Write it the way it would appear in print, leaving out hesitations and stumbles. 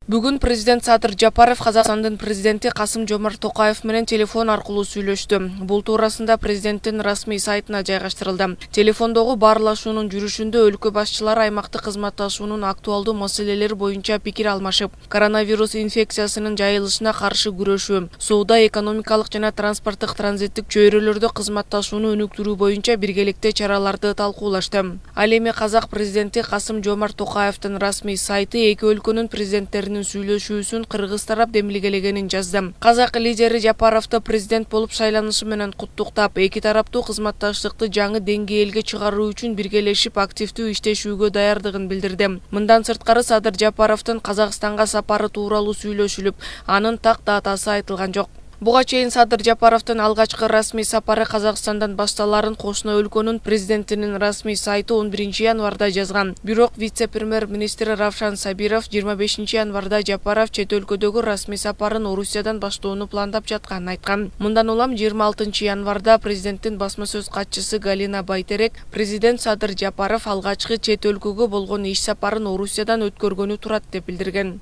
Бүгүн президент Садыр Жапаров Казакстандын президенти Касым-Жомарт Токаев менен телефон аркылуу сүйлөштү. Бул туурасында президенттин расмий сайтына жайгаштырылды. Телефондогу баарлашуунун жүрүшүндө өлкө башчылары аймактык кызматташуунун актуалдуу маселелери боюнча пикир алмашып, коронавирус инфекциясынын жайылышына каршы күрөшүү, соода, экономикалык жана транспорттук транзиттик чөйрөлөрдө кызматташууну өнүктүрүү боюнча биргеликте чараларды талкуулашты. Ал эми Казак президенти Касым-Жомарт Токаевдин расмий сайты эки өлкөнүн президенттеринин сүйлөшүүсүн кыргыз тарап демилгелегенин жазды. Казак лидери Жапаровду президент болуп шайланышы менен куттуктап, эки тараптуу кызматташтыкты жаңы деңгээлге чыгаруу үчүн биргелешип активдүү иштешүүгө даярдыгын билдирди. Мындан сырткары Садыр Жапаровдун Казакстанга сапары тууралуу сүйлөшүлүп, анын так датасы айтылган жок. Буга чейин Садыр Жапаровдун алгачкы расмий сапары Казакстандан башталарын кошуна өлкөнүн президентинин расмий сайты 11 январда жазган. Бирок вице-премьер-министри Равшан Сабиров 25 январда Жапаров чет өлкөдөгү расмий сапарын Орусиядан баштоону пландап жатканын айткан. Мындан улам 26 январда президенттин басма сөз катчысы Галина Байтерек президент Садыр Жапаров алгачкы чет өлкөгө болгон иш сапарын Орусиядан өткөргөнү турат деп билдирген.